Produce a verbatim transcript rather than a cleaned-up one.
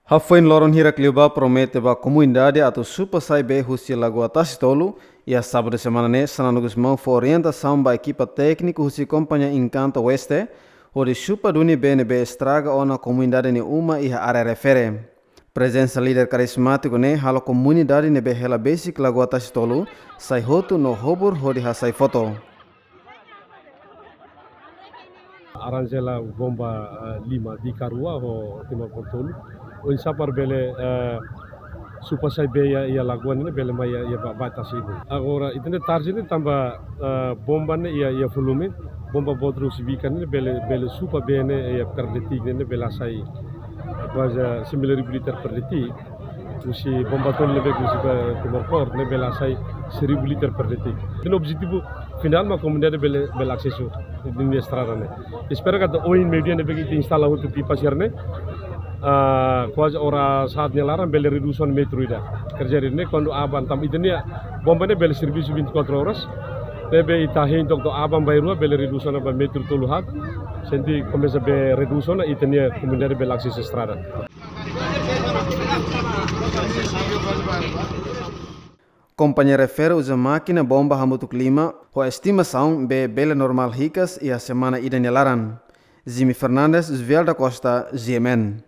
Hafoin loron hirak liubá promete ba komunidade atu supa sai bee husi Lagoa Tasi Tolu, iha sábadu semana ne'e, Xanana Gusmão fó orientasaun ba ekipa tékniku husi kompañia Encanto Oeste, hodi supa duni bee ne'ebé estraga ona komunidade nia uma iha área refere. Prezensa líder karizmátiku ne'e halo komunidade ne'ebé hela besik Lagoa Tasi Tolu sai hotu no hobur hodi hasai foto. Arranja hela bomba, eh, lima, Dika rua ho Timor Porto tolu. Oinsá para bele, eh, supa sai bee iha, iha lagoa ne'e bele mai iha, iha ba-, baita sibu. Agora, ita-nia target ne'e tanba, eh, bomba ne'e iha, iha volume, bomba boot rua husi Bika ne'e bele, bele supa bee ne'e iha per detik ne'e bele hasai kuaze sembilan ribu liter per detik. Husi bomba tolu ne'ebé husi ba Timor Port ne'e bele hasai seribu liter per detik. Ita-nia objetivu finál mak komunidade bele, bele asesu nia estrada ne'e. Espera katak ohin meiudia ne'ebé ita instala hotu pipa sira-ne'e, ah, kuaze oras haat nia laran bele redús ona metru ida. Kerja ne'e kuandu aban tanba ita-nia bomba ne'e bele servisu vinte e quatro horas. Ne'ebé ita hein to'o aban bainrua bele redús ona ba metru tolu haat. Se ita komesa bele redús ona, ita-nia komunidade bele asesu estrada. Kompañia refere uza mákina bomba hamutuk lima, ho estimasaun bee bele normál hikas iha semana ida nia laran. Jimmy Fernandes, Joel da Costa, G M N.